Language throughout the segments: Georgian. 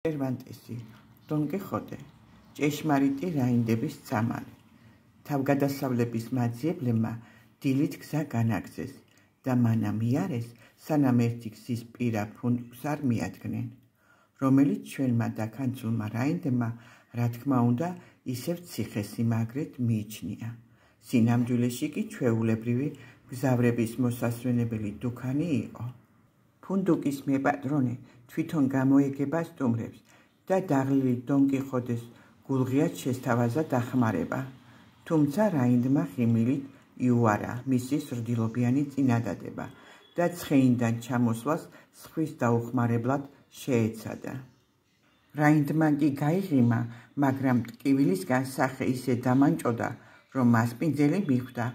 Cervantesi, Don Quixote, ჭეშმარიტი რაინდების წამალი. თავგადასავლების მაძიებლებმა დილით გზა განაგზეს და მანამ იარეს, სანამ ერთი გზის პირა ფუნტკს არ მიადგნენ, რომელიც ჩვენმა დაქანცულმა რაინდებმა, რა თქმა უნდა, ისევ ციხესიმაგრედ მიიჩნია. სინამდვილეში კი ჩვეულებრივი მგზავრების მოსასვენებელი დუქანი იყო. ფუნდუკის მეპატრონე თვითონ გამოეგება სტუმრებს და დაღლილი დონ კიხოტეს გულღიად შესთავაზა დახმარება, თუმცა რაინდმა ხიმილით იუარა მისი სრდილობიანი წინადადება და ცხენიდან ჩამოსვლას სხვის დაუხმარებლად შეეცადა. რაინდმა კი გაიღიმა, მაგრამ ტკივილისგან სახე ისე დამანჭოდა, რომ მასპინძელი მიხვდა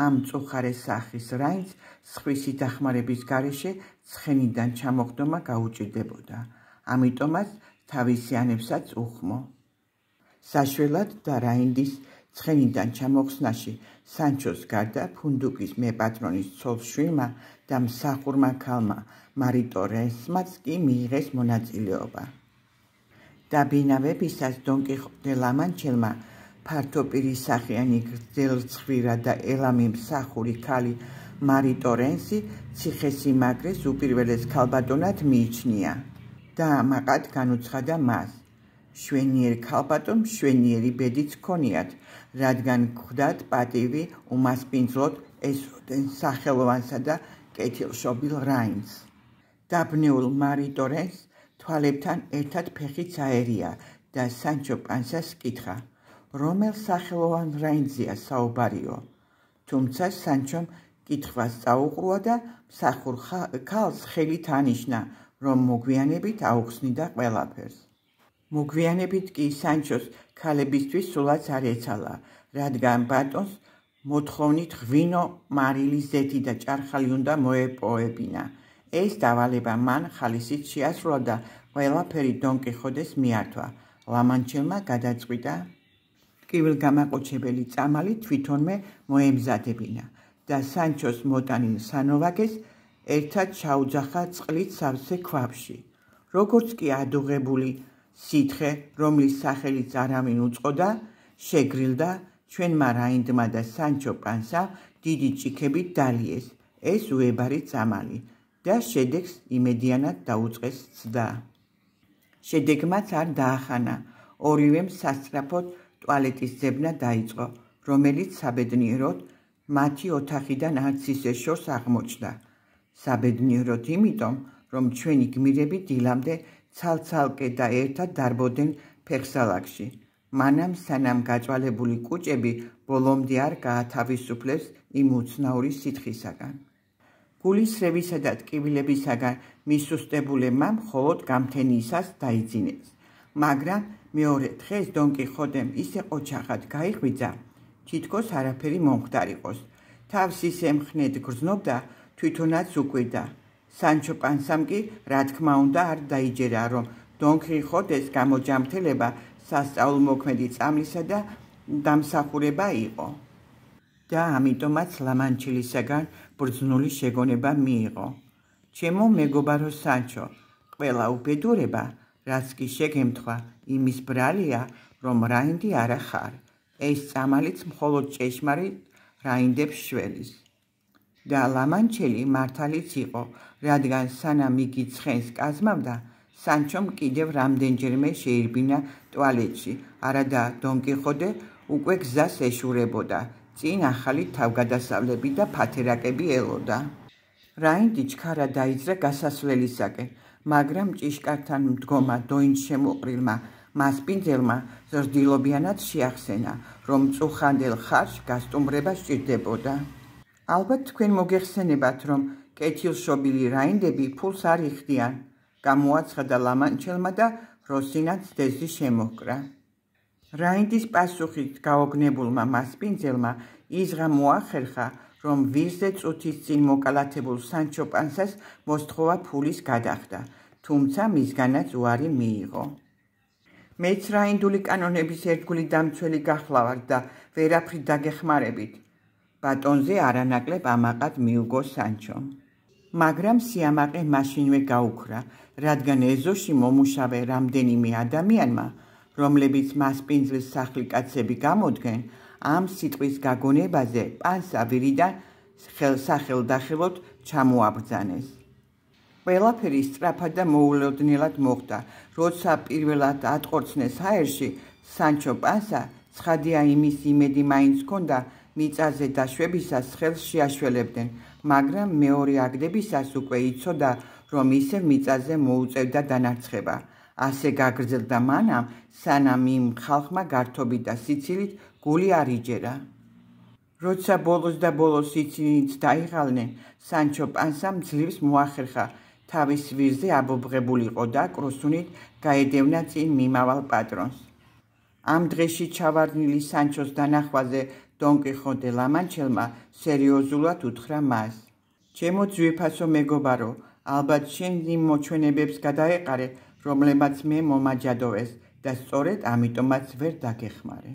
ამ წუხარე სახის რაინდს სხვისი დახმარების გარეშე ცხენიდან ჩამოხდომა გაუჭირდებოდა, ამიტომაც თავისიანებსაც უხმო. საშველად და რაინდის ცხენიდან ჩამოხსნაში სანჩოს გარდა ფუნდუკის მეპატრონის ცოლ-შვილმა და მსახურმა ქალმა მარიტორესმაც კი მიიღეს მონაწილეობა. დაბინავებისას დონ კიხოტე ლამანჩელმა ფართოპირისახიანი გრძელცხვირა და ელამი მსახური ქალი მარიტორენსი ციხესიმაგრეს უპირველეს ქალბატონად მიიჩნია და ამაყად განუცხადა მას. შვენიერ ქალბატონ მშვენიერი ბედიც ჰქონიათ, რადგან გვხვდათ პატივი უმასპინძლოდ ესროდნენ სახელოვანსა და კეთილშობილ რაინდს. დაბნეულ მარიტორენს თვალებთან ერთად ფეხიც აერია და სანჩო პანსას კითხა, რომელ სახელოვან რაინდზეა საუბარიო, თუმცა სანჩომ კითხვას წაუყრუა და მსახურ ქალს ხელით ანიშნა, რომ მოგვიანებით აუხსნიდა ყველაფერს. მოგვიანებით კი სანჩოს ქალებისთვის სულაც არ ეცალა, რადგან ბატონს მოთხოვნით ღვინო, მარილი, ზეთი და ჭარხალი უნდა მოეპოვებინა. ეს დავალება მან ხალისით შეასრულა და ყველაფერი დონ კიხოტეს მიართვა. ლამანჩელმა გადაწყვიტა ტკივილგამაყუჩებელი წამალი თვითონვე მოემზადებინა და სანჩოს მოტანილ სანოვაგეს ერთად ჩაუძახა წყლით სავსე ქვაბში. როგორც კი ადუღებული სითხე, რომლის სახელიც არავინ უწყოდა, შეგრილდა, ჩვენმა რაინდმა და სანჩო პანსა დიდი ჭიქებით დალიეს ეს უებარი წამალი და შედეგს იმედიანად დაუწყეს ცდა. შედეგმაც არ დაახანა, ორივემ სასწრაფოდ ტუალეტის ძებნა დაიწყო, რომელიც საბედნიეროდ მათი ოთახიდან არც ისე შორს აღმოჩნდა. საბედნიეროდ იმიტომ, რომ ჩვენი გმირები დილამდე ცალ-ცალკე და ერთად დარბოდნენ ფეხსალაგში, მანამ სანამ გაჭვალებული კუჭები ბოლომდე არ გაათავისუფლებს იმ უცნაური სითხისაგან. გულისრევისა და ტკივილებისაგან მისუსტებულებმა მხოლოდ გამთენიისას დაიძინეს, მაგრამ მეორე დღეს დონ კიხოტემ ისე ყოჩახად გაიღვიძა, თითქოს არაფერი მომხდარიყოს. თავს ისე მხნედ გრძნობდა, თვითონაც უკვირდა. სანჩო პანსამ კი, რა თქმა უნდა, არ დაიჯერა, რომ დონ კიხოტეს გამოჯამრთელება სასწაულმოქმედი წამლისა და დამსახურება იყო და ამიტომაც ლამანჩელისაგან ბრძნული შეგონება მიიღო. ჩემო მეგობარო სანჩო, ყველა უბედურება, რაც კი შეგემთხვა, იმის ბრალია, რომ რაინდი არა ხარ. ეს წამალიც მხოლოდ ჭეშმარიტ რაინდებს შველის. და ლამანჩელი მართალიც იყო, რადგან სანამ იგი ცხენს კაზმავდა, სანჩომ კიდევ რამდენჯერმე შეირბინა ტუალეტში, არადა დონ კიხოტე უკვე გზას ეშურებოდა, წინ ახალი თავგადასავლები და ფათერაკები ელოდა. რაინდი ჩქარა დაიძრა გასასვლელისაკენ, მაგრამ ჭიშკართან მდგომა დოინჩემუყრილმა მასპინძელმა ზრდილობიანად შეახსენა, რომ წუხანდელ ხარჯს გასტუმრება სჭირდებოდა. ალბათ თქვენ მოგეხსენებათ, რომ კეთილშობილი რაინდები ფულს არ იხდიან, გამოაცხადა ლამანჩელმა და როსინაც დეზი შემოჰკრა. რაინდის პასუხით გაოგნებულმა მასპინძელმა იზღა მოახერხა, რომ ვირზე წუთის წინ მოკალათებულ სანჩო პანსას მოსთხოვა ფულის გადახდა, თუმცა მისგანაც უარი მიიღო. მეც რაინდული კანონების ერთგული დამცველი გახლავართ და ვერაფრით დაგეხმარებით. ბატონზე არანაკლებ ამაყად მიუგო სანჩომ. მაგრამ სიამაყე მაშინვე გაუქრა, რადგან ეზოში მომუშავე რამდენიმე ადამიანმა, რომლებიც მასპინძლის სახლიკაცები გამოდგენ, ამ სიტყვის გაგონებაზე პანსა ვირიდან სახელდახელოდ ჩამოაბრძანეს. ყველაფერი სწრაფად და მოულოდნელად მოხდა. როცა პირველად ატყორცნეს ჰაერში, სანჩო პანსა ცხადია იმის იმედი მაინც ჰქონდა მიწაზე დაშვებისას ხელს შეაშველებდნენ, მაგრამ მეორე აგდებისას უკვე იცოდა, რომ ისევ მიწაზე მოუწევდა დანარცხება. ასე გაგრძელდა მანამ, სანამ იმ ხალხმა გართობით და სიცილით გული არ იჯერა. როცა ბოლოს და ბოლოს ისინიც დაიღალნენ, სანჩო პანსამ ძლივს მოახერხა თავის ვირზე აბობღებულიყო და კროსუნით გაედევნა წინ მიმავალ პატრონს. ამ დღეში ჩავარდნილი სანჩოს დანახვაზე დონ კიხოტე ლამანჩელმა სერიოზულად უთხრა მას: ჩემო ძვირფასო მეგობარო, ალბათ შენ იმ მოჩვენებებს გადაეყარე, რომლებმაც მე მომაჯადოვეს და სწორედ ამიტომაც ვერ დაგეხმარე.